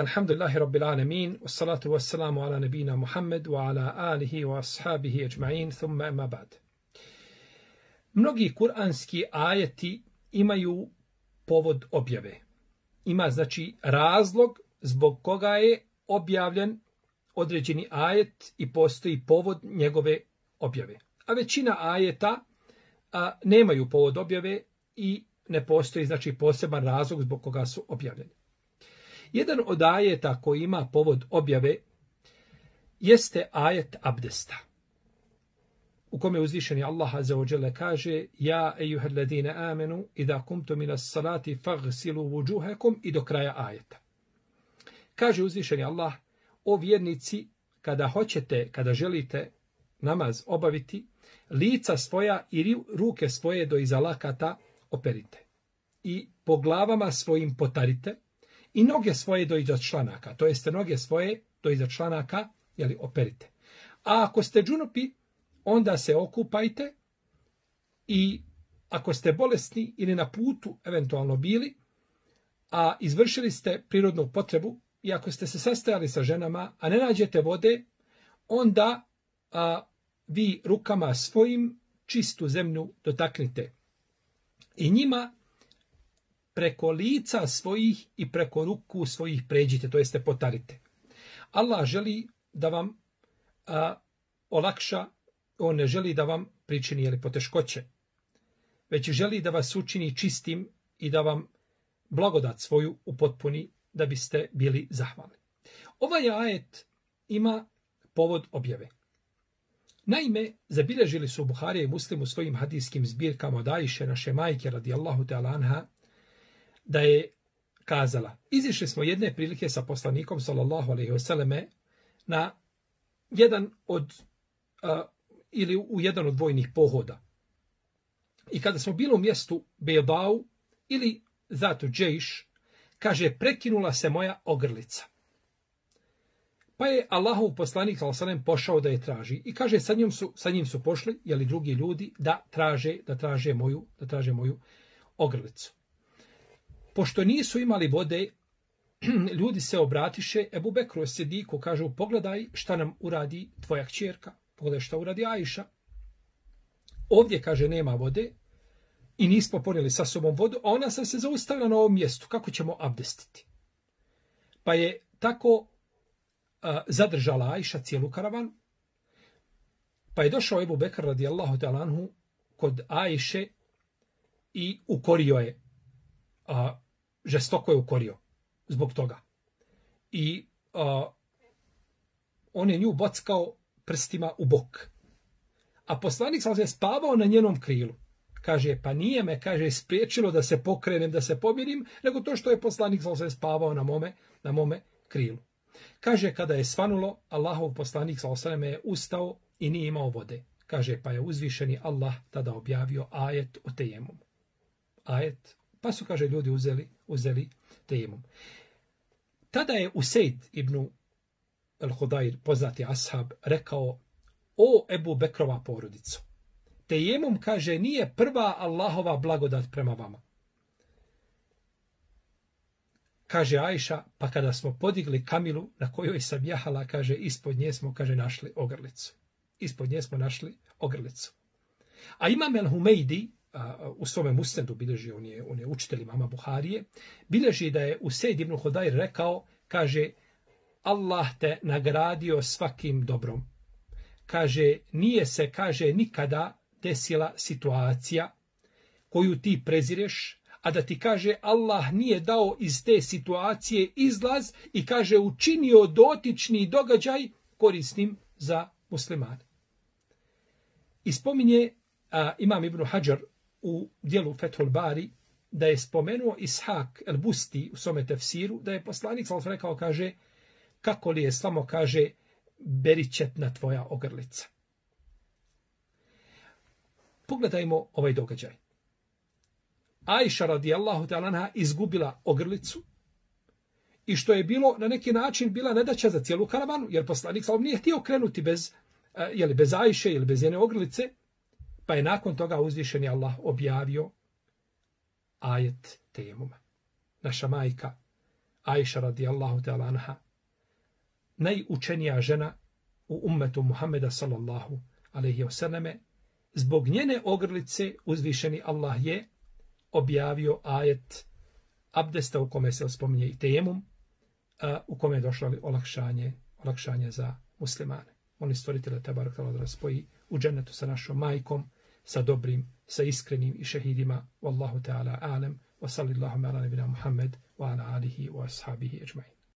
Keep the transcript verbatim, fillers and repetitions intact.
Alhamdulillahi Rabbil Alamin, wassalatu wassalamu ala nabina Muhammed wa ala alihi wa ashabihi ajma'in, thumma ema ba'd. Mnogi kuranski ajeti imaju povod objave. Ima znači razlog zbog koga je objavljen određeni ajet i postoji povod njegove objave. A većina ajeta a, nemaju povod objave i ne postoji znači poseban razlog zbog koga su objavljeni. Jedan od ajeta koji ima povod objave jeste ajet abdesta, u kome uzvišeni Allah azza wa jalla kaže: Ja ejuhel ladine amenu idha kumtum ila salati faghsilu wujuhakum, i do kraja ajeta. Kaže uzvišeni Allah: O vjernici, kada hoćete, kada želite namaz obaviti, lica svoja i ruke svoje do iza lakata operite i po glavama svojim potarite i noge svoje do iza članaka, to jeste noge svoje do iza članaka, jeli, operite. A ako ste džunupi, onda se okupajte, i ako ste bolesni ili na putu eventualno bili, a izvršili ste prirodnu potrebu, i ako ste se sastajali sa ženama, a ne nađete vode, onda a, vi rukama svojim čistu zemlju dotaknite i njima preko lica svojih i preko ruku svojih pređite, to jeste potarite. Allah želi da vam a, olakša, on ne želi da vam pričini jeli poteškoće, već želi da vas učini čistim i da vam blagodat svoju upotpuni, da biste bili zahvalni. Ovaj ajet ima povod objave. Naime, zabilježili su Buharija i Muslim u svojim hadijskim zbirkama od Ajše, naše majke radijallahu ta'ala anha, da je kazala: izišli smo jedne prilike sa poslanikom sallallahu alejhi ve selleme na jedan od a, ili u jedan od vojnih pohoda. I kada smo bili u mjestu Bejdau ili Zatu Džejš, kaže, prekinula se moja ogrlica. Pa je Allahov poslanik sallallahu alejhi ve sellem pošao da je traži, i kaže, sa njim su, sa njim su pošli, jeli, drugi ljudi da traže, da traže moju, da traže moju ogrlicu. Pošto nisu imali vode, ljudi se obratiše Ebu Bekru Sidiku, kažu: pogledaj šta nam uradi tvoja kćerka, pogledaj šta uradi Ajša. Ovdje, kaže, nema vode i nismo ponijeli sa sobom vodu, a ona sam se zaustavila na ovom mjestu, kako ćemo abdestiti? Pa je tako a, zadržala Ajša cijelu karavanu. Pa je došao Ebu Bekr radijallahu ta'ala anhu kod Ajše i ukorio je, a, žestoko je ukorio zbog toga. I a, on je nju bockao prstima u bok. A poslanik sam se spavao na njenom krilu. Kaže, pa nije me, kaže, spriječilo da se pokrenem, da se pomirim, nego to što je poslanik sam se spavao na mome, na mome krilu. Kaže, kada je svanulo, Allahov poslanik sallallahu alejhi ve sellem je ustao i nije imao vode. Kaže, pa je uzvišeni Allah tada objavio ajet o tejemum. Ajet, pa su, kaže, ljudi uzeli, uzeli tejemum. Tada je Usejd ibn al-Hudajr, poznati ashab, rekao: o Ebu Bekrova porodico, tejemum, kaže, nije prva Allahova blagodat prema vama. Kaže Ajša, pa kada smo podigli kamilu na kojoj sam jahala, kaže, ispod nje smo, kaže, našli ogrlicu. Ispod nje smo našli ogrlicu. A Imam el-Humejdi, u svome musnedu bilježi, on je, on je učitelj imama Buharije, bilježi da je Usejd ibn Hudajr rekao, kaže, Allah te nagradio svakim dobrom. Kaže, nije se, kaže, nikada desila situacija koju ti prezireš, a da ti, kaže, Allah nije dao iz te situacije izlaz i, kaže, učinio dotični događaj korisnim za muslimane. I spominje a, Imam Ibn Hajar u dijelu Fethul Bari da je spomenuo Ishak el-Busti u svome tefsiru, da je poslanik sallallahu alejhi ve sellem rekao, kaže, kako li je samo, kaže, beričetna tvoja ogrlica. Pogledajmo ovaj događaj. Ajša radijallahu ta'ala anha izgubila ogrlicu, i što je bilo na neki način bila nedaća za cijelu karavanu, jer poslanik sallallahu nije htio krenuti bez, jeli, bez Ajše ili bez njene ogrlice, pa je nakon toga uzvišeni Allah objavio ajet tejemuma. Naša majka Ajša radijallahu ta'ala anha, najučenija žena u ummetu Muhammeda sallallahu alejhi ve selleme, zbog njene ogrlice uzvišeni Allah je objavio ajet abdesta u kome se spominje i tejemum, u kome je došlo olakšanje, olakšanje za muslimane. Oni stvoritele tebarak ta'ala da spoji u džennetu sa našom majkom, sa dobrim, sa iskrenim i šehidima. Wallahu ta'ala alem, wa sallallahu ala nabina Muhammed, wa ala alihi wa ashabihi ejma'in.